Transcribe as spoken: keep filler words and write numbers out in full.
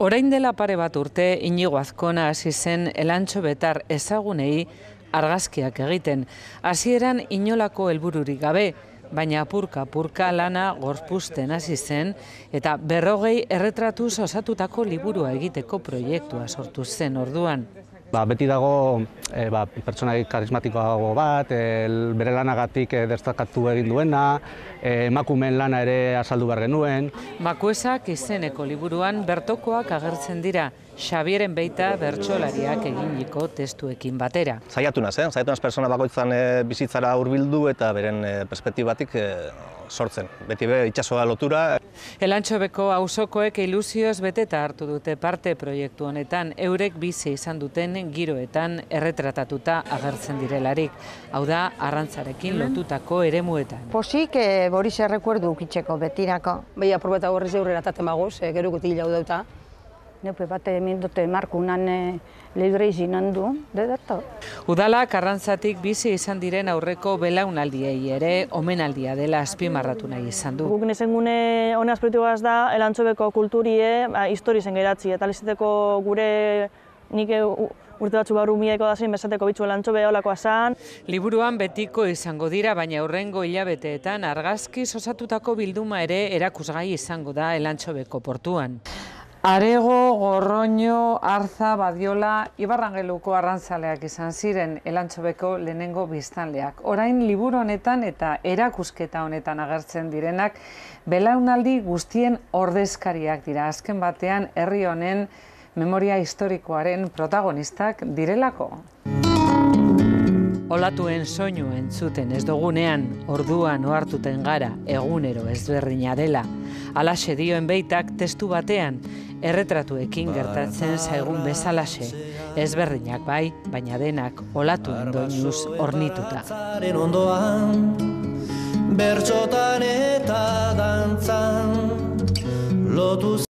Orain dela pare bat urte Inigo Azkona hasi zen Elantxo Betar ezagunei argazkiak egiten. Hasieran inolako helbururik gabe, baina apurka-apurka lana gorpuzten hasi zen eta berrogei erretratuz osatutako liburua egiteko proiektua sortu zen orduan. Ba, beti dago e, ba, pertsonai karismatikoago bat, e, bere lanagatik e, destakatu egin duena, e, emakumeen lana ere azaldu behar genuen. Makuesak izeneko liburuan bertokoak agertzen dira, Xabieren Beita bertsolariak eginiko testuekin batera. Saiatu naz, eh? Saiatu naz pertsona bakoitzan e, bizitzara hurbildu eta beren e, perspektibatik e, sortzen. Beti be itsasoa lotura. Elantxobeko auzokoek ilusioz beteta hartu dute parte proiektu honetan, eurek bizi izan duten giroetan erretratatuta agertzen direlarik. Hau da, arrantzarekin lotutako eremuetan. Posik e, Boris errekuerdu ukitzeko betirako. Bai, apurbeta horrez eurrera taten bagoz, e, gero guti hilau dauta. Neupe bat egin dute markunan leidure izinan du, dedato. Udalak arrantzatik bizi izan diren aurreko belaunaldiei ere omenaldia dela azpimarratu nahi izan du. Guk nezengune honaz proiektuaz da, Elantxobeko kulturie, ba, histori zen geratzi, eta lizeteko gure nik urte batzu barru mieko da zen, bezateko bitzu Elantxobe holakoa zan. Liburuan betiko izango dira, baina hurrengo hilabeteetan argazkiz osatutako bilduma ere erakusgai izango da Elantxobeko portuan. Arego, Gorroño, Arza, Badiola, Ibarrangeluko arrantzaleak izan ziren Elantxobeko lehenengo biztanleak. Orain liburu honetan eta erakusketa honetan agertzen direnak belaunaldi guztien ordezkariak dira. Azken batean herri honen memoria historikoaren protagonistak direlako. Olatuen soinu entzuten ez dugunean, orduan ohartuten gara egunero ezberdina dela. Halaxe dioen Beitak testu batean, erretratuekin gertatzen zaigun bezalaxe. Ezberdinak bai, baina denak olatuen doinuz ornituta. Bertsotan eta dantzan lotu